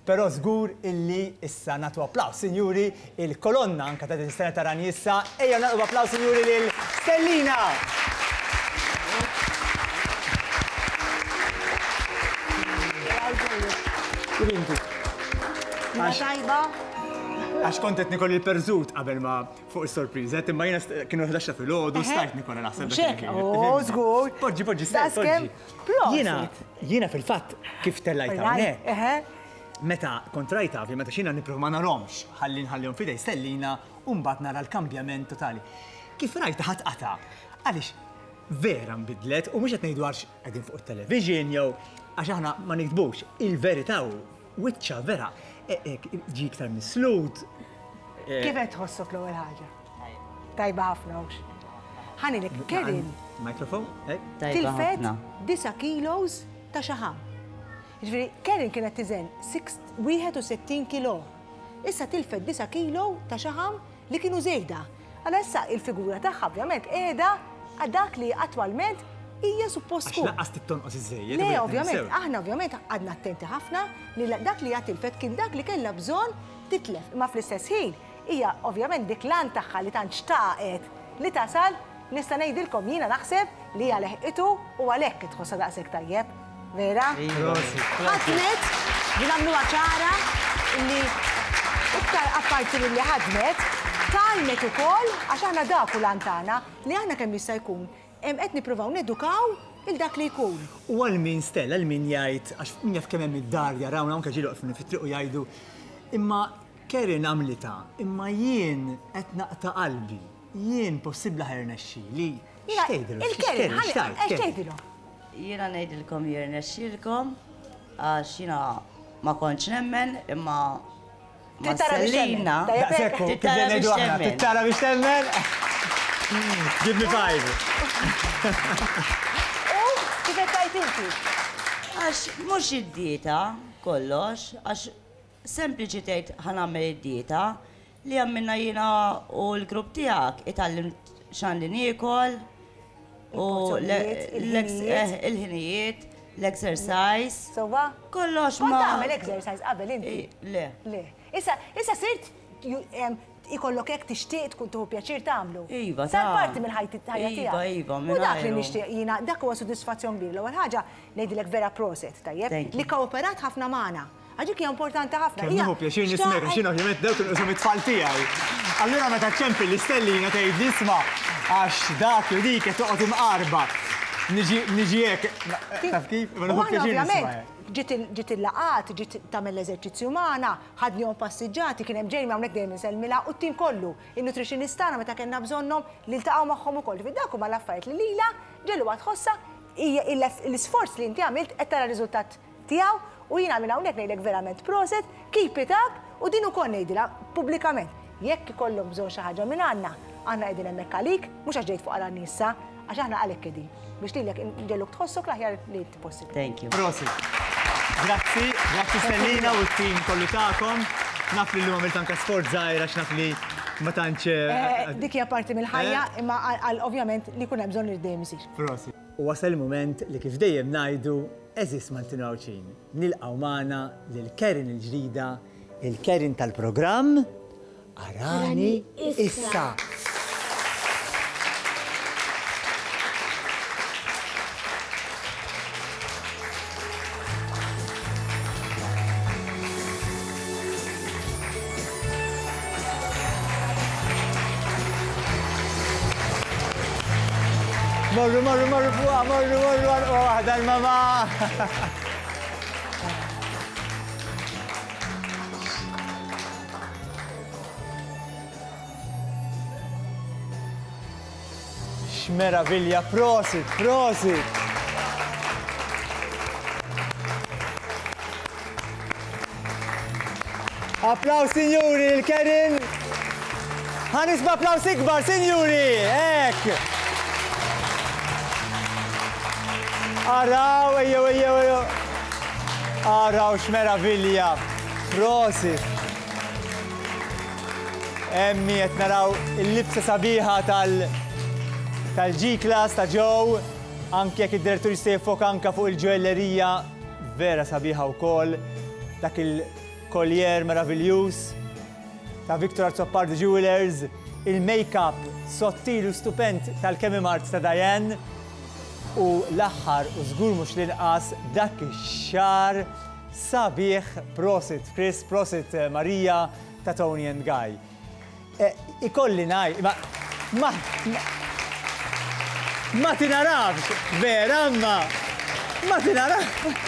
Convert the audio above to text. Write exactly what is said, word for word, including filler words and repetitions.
Però żgur illi issa nagħtu applaws, sinjuri, il-kolonna anka ta' din is-sena ta' Arani Issa, ejja nagħtu applaws, sinjuri, lil Stellina! Tajba. Għax kont qed nikol il-perżut qabel ma fuq is-sorpriża, imma jiena kienu ħdax ta' filgħodu, stajt nikola naħseb. Xek, oh, żgur. Poġġi, poġġi, stajt, poġġi. Jiena, jiena fil-fatt kif tellajt hawnhekk. Meta kont rajta, meta xina nipprova ma narhomx, ħalli nħallihom f'idej Stellina u mbagħad nara l-kambjament totali. Kif rajta ħadd qata'? Għaliex vera nbidlet u mhux qed ngħidu għax qegħdin fuq it-television jew għax aħna ma nikdbux, il-verità hu wiċċa vera ġi iktar mislut. Kif qed tħossok l-ewwel ħaġa? Tajba ħafna hux. Ħanilek Kevin. Mikrofon? Tilfet disa' kilos ta' xaħam. Ġifieri Kevin kienet tiżen wieħed u sittin kilo. Issa tilfet disa' kilo ta' xaħam li kienu żejda. Allora issa il-figura tagħha ovvjament qiegħda għal dak li attwalment hija suppost tkun. Għax lanqas tittonqos iżżejjed. Le, ovvjament, aħna ovvjament għadna attenti ħafna li dak li hija tilfet kien dak li kellha bżonn titlef. Imma fl-istess ħin hija ovvjament dik l-għan tagħha li tant xtaqet li tasal, nista' ngħidilkom jiena naħseb li hija leħqitu u għalhekk tħossha daqshekk tajjeb. Vera? Ħadmet, li nagħmluha ċara li iktar apparti milli ħadmet, tgħallmet ukoll għax aħna dak u l-għan tagħna li aħna kemm jista' jkun qed nippruvaw nedukaw il dak li jkun. U għal min Stella, għal min jgħid, għax min jaf kemm hemm id-dar jarawna anke ġieli waqfni fit-triq u jgħidu, imma Karen għamlitha, imma jien qed naqta' qalbi, jien possibbli ħa jirnexxili. X'tgħidilhom? Il-Karen, x'tgħidilhom? Jiena ngħidilkom jirnexxilkom għax jiena ma kontx nemmen imma ma Stellina. Tittara biex temmen. Tittara biex temmen. Give me five. U kif qed tgħid inti? Għax mhux id-dieta kollox, għax sempliċi tgħid ħa nagħmel id-dieta li għamilna jiena u l-grupp tiegħek itgħallimt x'għandi niekol u il-ħinijiet, l-exercise. Sowa? Kollox ma. Kont tagħmel exercise qabel inti? Le. Le. Issa issa sirt ikollok hekk tixtieq tkun tieħu pjaċir tagħmlu. Iva, sar parti minn ħajja tiegħek. Iva, iva, U dak li nixtieq jiena, dak huwa sodisfazzjon kbir. L-ewwel ħaġa ngħidilek vera proset, tajjeb, li kooperat ħafna magħna. Għax dik hija importanti ħafna. Kemm nieħu pjaċir nismek għax jien ovvjament dawk inqishom it-tfal tiegħi. Allura meta ċempel l-Stellina tgħid isma' għax dak jew dik qed toqgħod imqarba. Niġi niġi hekk, taf kif? Ma nieħu pjaċir nisma'. Ġiet il-laqat, ġiet tagħmel l-eżerċizzju magħna, ħadnihom passiġġati, kien hemm Jamie hawnhekk dejjem insellmilha u t-tim kollu, in-nutritionist tagħna meta kellna bżonnhom li ltaqgħu magħhom ukoll. Ġifieri dak huma l-affarijiet li lilha ġelluha tħossha hija l-isforz li inti għamilt qed tara r-riżultat tiegħu u jiena minn hawnhekk ngħidlek verament proset, keep it up u din ukoll ngħidilha pubblikament. Jekk ikollhom bżonn xi ħaġa minn għandna, aħna qegħdin hemmhekk għalik, mhux għax ġejt fuq Arani issa, għax aħna għalhekk qegħdin biex lilek nġelluk tħossok l-aħjar li inti possibbli. Thank you. Prosit. Grazzi, grazzi Stellina u t-tim kollu tagħkom. Naf li llum għamilt anke sforz żgħir għax naf li ma tantx. Dik hija parti mill-ħajja, imma għal ovvjament li jkun hemm bżonn li dejjem isir. Prosit. U wasal il-mument li kif dejjem ngħidu, għeżież Maltin u Għawdxin, nilqgħu magħna lil Karen il-ġdida, il-Karen tal-programm Arani Issa. Morru, morru, morru fuqa, morru, morru, għalqa waħda l-mama. X'meravilja, prosit, prosit. Applaus, signori, il-Karen. Ħa nisma' applaus ikbar, signori, hekk. Araw, ejjew, ejjew, ejjew. Araw x'meravilja. Prosit. Emmi qed naraw il-libsa sabiħa tal tal-G-Class ta' Joe, anke jekk id-direttur jista' jiffoka anke fuq il-ġoellerija vera sabiħa wkoll, dak il Collier meraviljuż ta' Victor Azzopardi Jewelers, il-make-up sottil u stupend tal-Kemi Mart ta' Diane u l-aħħar u żgur mhux l-inqas dak ix-xagħar sabiħ. Prosit Chris, prosit eh, Maria ta' Toni and Guy. Eh, ikolli ngħid, ma, ma, ma, ma tinarafx, vera, ma, ma tinarafx.